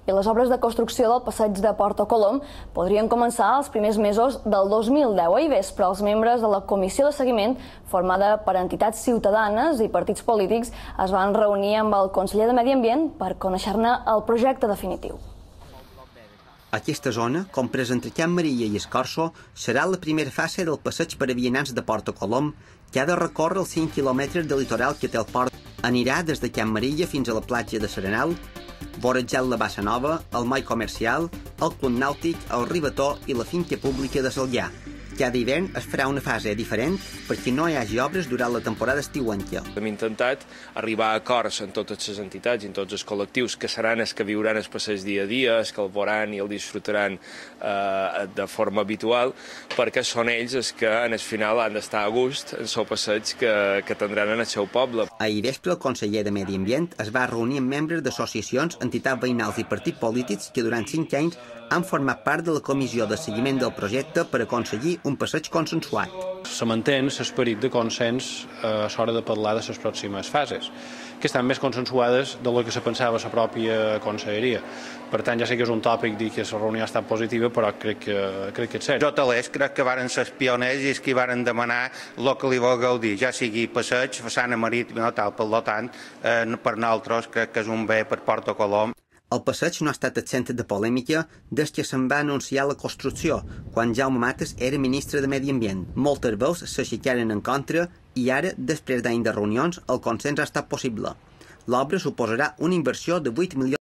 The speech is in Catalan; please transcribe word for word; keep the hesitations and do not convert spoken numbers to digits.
i les obres de construcció del passeig de Porta Colom podrien començar els primers mesos del dos mil deu. Ahir vespre, els membres de la comissió de seguiment, formada per entitats ciutadanes i partits polítics, es van reunir amb el conseller de Medi Ambient per conèixer-ne el projecte definitiu. Aquesta zona, compresa entre Can Maria i Escorço, serà la primera fase del passeig per a vianants de Porta Colom, que ha de recórrer els cinc quilòmetres de litoral que té el port. Anirà des de Can Maria fins a la platja de Serenal, vorejant la Bassa Nova, el moll comercial, el club nàutic, el Ribató i la finca pública de Salllà. Cada hivern es farà una fase diferent perquè no hi hagi obres durant la temporada estiuenca. Hem intentat arribar a acords amb totes les entitats i amb tots els col·lectius que seran els que viuran el passeig dia a dia, els que el veuran i el disfrutaran eh, de forma habitual, perquè són ells els que en el final han d'estar a gust en el passeig que, que tindran en el seu poble. Ahir vespre el conseller de Medi Ambient es va reunir amb membres d'associacions, entitats veïnals i partits polítics que durant cinc anys han format part de la comissió de seguiment del projecte per aconseguir un passeig consensuat. Se mantén l'esperit de consens a l'hora de parlar de les pròximes fases, que estan més consensuades de lo que se pensava la pròpia conselleria. Per tant, ja sé que és un tòpic dir que la reunió ha estat positiva, però crec que, crec que és cert. Jo talers crec que varen ser els pioners i els que varen demanar el que li vol gaudir, ja sigui passeig, façana marítima o tal. Per tant, eh, per nosaltres crec que és un bé per Porta Colom. El passeig no ha estat exempt de polèmica des que se'n va anunciar la construcció, quan Jaume Mates era ministre de Medi Ambient. Moltes veus s'aixecaren en contra i ara, després d'anys de reunions, el consens ha estat possible. L'obra suposarà una inversió de vuit milions